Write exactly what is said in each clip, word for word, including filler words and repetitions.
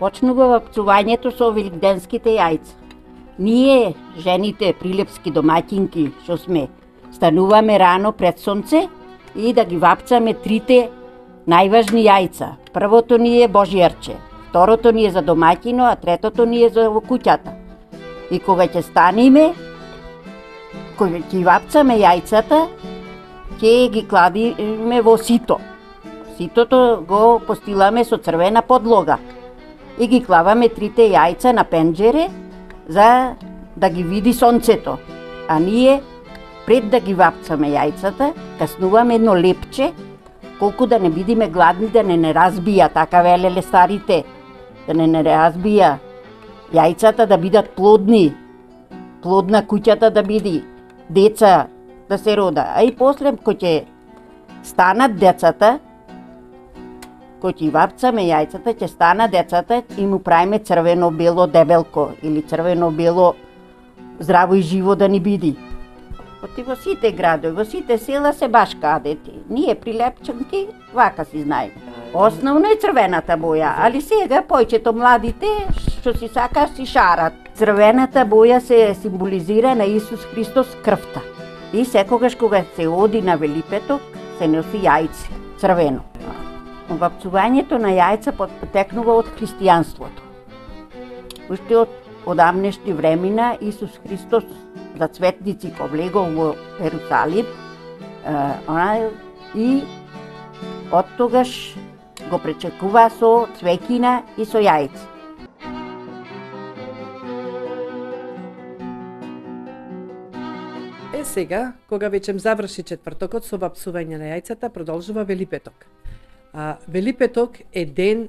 Почнува вапцувањето со великденските јајца. Ние, жените, прилепски домаќинки, што сме, стануваме рано пред сонце и да ги вапцаме трите најважни јајца. Првото ни е Божијарче, второто ни е за домаќино, а третото ни е за во куќата. И кога ќе станиме, кога ќе вапцаме јајцата, ќе ги кладиме во сито. Ситото го постиламе со црвена подлога и ги клаваме трите јајца на пенџере за да ги види сонцето. А ние, пред да ги вапцаме јајцата, каснуваме едно лепче, колку да не бидиме гладни, да не не разбија, така велеле старите, да не не разбија јајцата, да бидат плодни, плодна куќата да биде, деца да се рода. А и после, кој ќе станат децата, кој ќе вапцаме јајцата, ќе станат децата и му правиме црвено-бело дебелко или црвено-бело здраво и живо да ни биде. Оти во сите градови, во сите села се баш кадети. Ние прилепчанки вака си знаеме. Основно е црвената боја, али сега појчето младите што си сака си шарат. Црвената боја се символизира на Исус Христос крвта. И секогаш кога се оди на Велипеток, се носи јајце, црвено. Вапцувањето на јајца потекнува од христијанството. Уште од одамнешни времена Исус Христос за цветници повлегол во Ерусалим и од тогаш го пречекува со цвеќина и со јајца. Е сега, кога веќе заврши четвртокот со вапсување на јајцата, продолжува Велипеток. А, Велипеток е ден,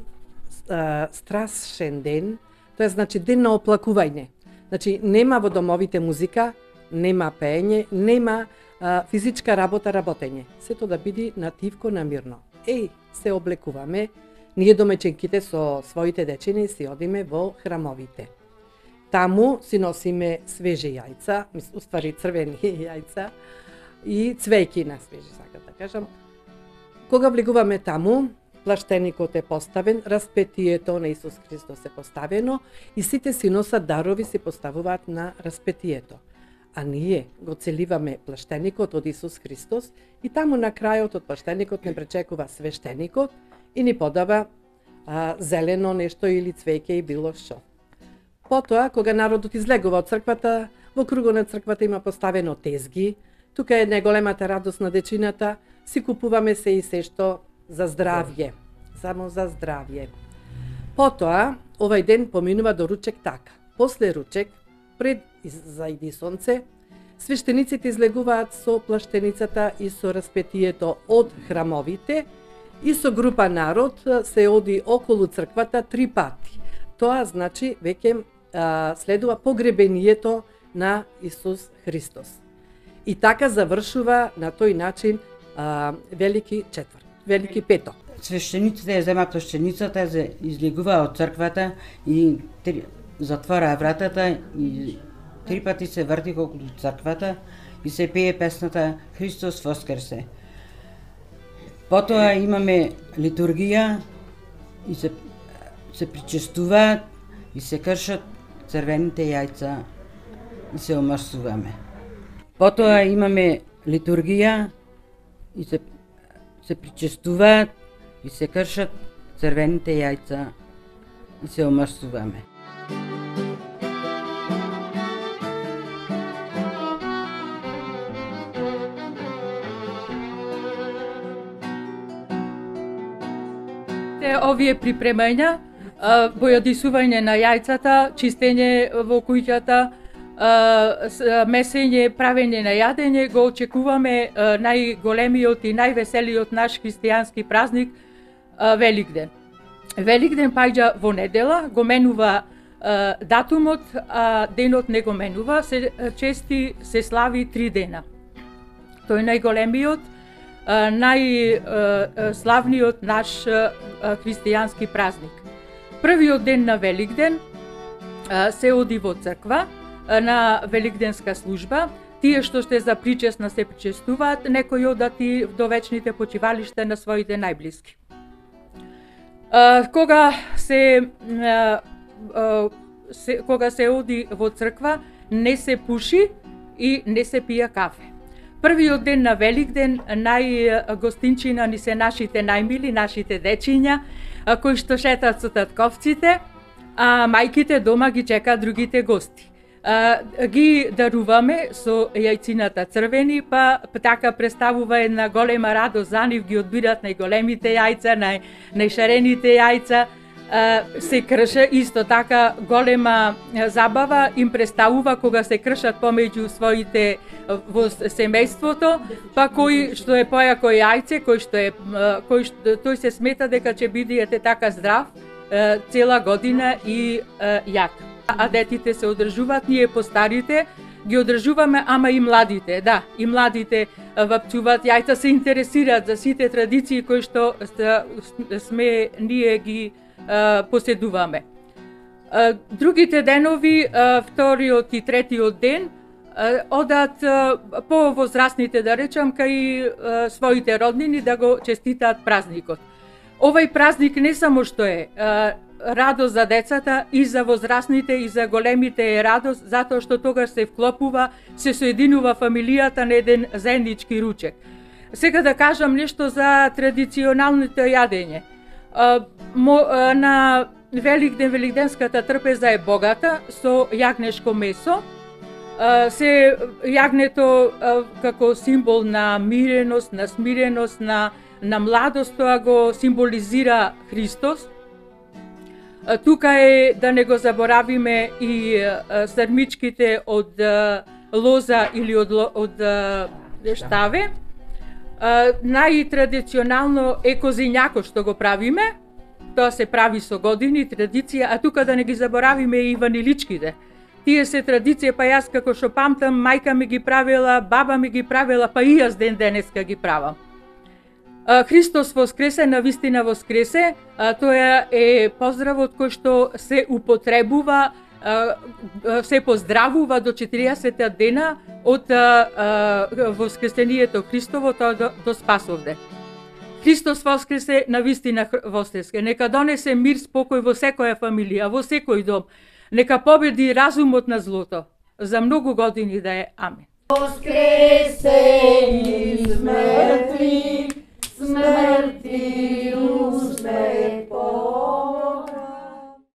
а, страшен ден, тоа е значи ден на оплакување. Значи нема во домовите музика, нема пеење, нема а, физичка работа, работење. Сето да биде на тивко, на мирно. Еј, се облекуваме, ние домеченките со своите дечини си одиме во храмовите. Таму си носиме свежи јајца, уствари црвени јајца и цвејки на свежи, сакам да кажам. Кога влегуваме таму, плаштеникот е поставен, распетието на Исус Христос е поставено и сите си носат дарови, си поставуваат на распетието. А ние го целиваме плаштеникот од Исус Христос и таму на крајот од плаштеникот не пречекува свештеникот и ни подава а, зелено нешто или цвеќе и било што. Потоа, кога народот излегува од црквата, во кругот на црквата има поставено тезги, тука е најголемата радост на дечината, си купуваме се и се што за здравје, само за здравје. Потоа, овај ден поминува до ручек така. После ручек, пред зајди сонце, свештениците излегуваат со плаштеницата и со распетието од храмовите и со група народ се оди околу црквата три пати. Тоа значи веќе следува погребението на Исус Христос. И така завршува на тој начин а, Велики четврт, Велики петок. Свештениците ја земат плаштеницата, излегува од црквата и три, затвора вратата и три пати се врти околу црквата и се пее песната Христос воскресе. Потоа имаме литургија и се, се причестуваат и се кршат црвените јајца и се омрсуваме. Потоа имаме литургија и се, се причестуваат и се кршат црвените јајца и се омрсуваме. Те овие припремања, бојадисување на јајцата, чистење во куќата, месење, правење на јадење, го очекуваме најголемиот и највеселиот наш христијански празник Великден. Великден паѓа во недела, го менува датумот, а денот не го менува, се чести се слави три дена. Тој најголемиот, најславниот наш христијански празник. Првиот ден на Великден се оди во црква на великденска служба. Тие што сте за причесна се причестуваат, некои одат и до вечните почивалишта на своите најблиски. Кога се, се кога се оди во црква, не се пуши и не се пија кафе. Првиот ден на Великден најгостинчина ни се нашите најмили, нашите дечиња, кои што шетат со татковците, а мајките дома ги чекаат другите гости. А, ги даруваме со јајцината црвени, па така представува една голема радост за нив, ги одбират најголемите јајца, нај, најшарените јајца, а, се крша исто така голема забава им представува кога се кршат помеѓу своите во семејството, па кој што е појако јајце, кој што е кој што тој се смета дека ќе бидете така здрав цела година и јак. А детите се одржуваат, ние постарите ги одржуваме, ама и младите, да, и младите вапчуваат јајца, се интересираат за сите традиции кои што сме ние ги а, поседуваме. А, другите денови, а, вториот и третиот ден, а, одат а, по возрастните, да речам, кај а, своите роднини да го честитаат празникот. Овај празник не само што е а, радост за децата, и за возрастните, и за големите е радост, затоа што тогаш се вклопува, се соединува фамилијата на еден заеднички ручек. Сега да кажам нешто за традиционалното јадење. На Великден, великденската трпеза е богата со јагнешко месо. Се јагнето како символ на миреност, на смиреност, на, на младост, тоа го символизира Христос. Тука е, да не го заборавиме, и срмичките од лоза или од, од штаве. Најтрадиционално е козињако што го правиме. Тоа се прави со години, традиција, а тука да не ги заборавиме и ваниличките. Тие се традиција, па јас како што памтам, мајка ми ги правила, баба ми ги правила, па и јас ден денеска ги правам. Христос воскресе, навистина воскресе, тоа е поздравот кој што се употребува, се поздравува до четириесет дена од воскресението Христово, тоа до, до Спасовден. Христос воскресе, навистина воскресе. Нека донесе мир, спокој во секоја фамилија, во секој дом. Нека победи разумот на злото. За многу години да е. Амин. Воскресе из мртвих, смрти узме по